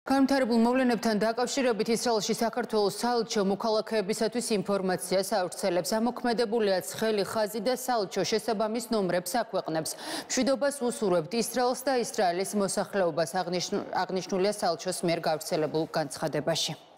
განვითარებულ მოვლენებთან დაკავშირებით ისრაელში საქართველოს საელჩო მოქალაქეებისათვის ინფორმაციას ავრცელებს. ამოქმედებულია ცხელი ხაზი და საელჩო შესაბამის ნომრებს აქვეყნებს. მშვიდობას უსურვებთ ისრაელს და ისრაელის მოსახლეობას, აღნიშნულია საელჩოს მიერ გავრცელებულ განცხადებაში.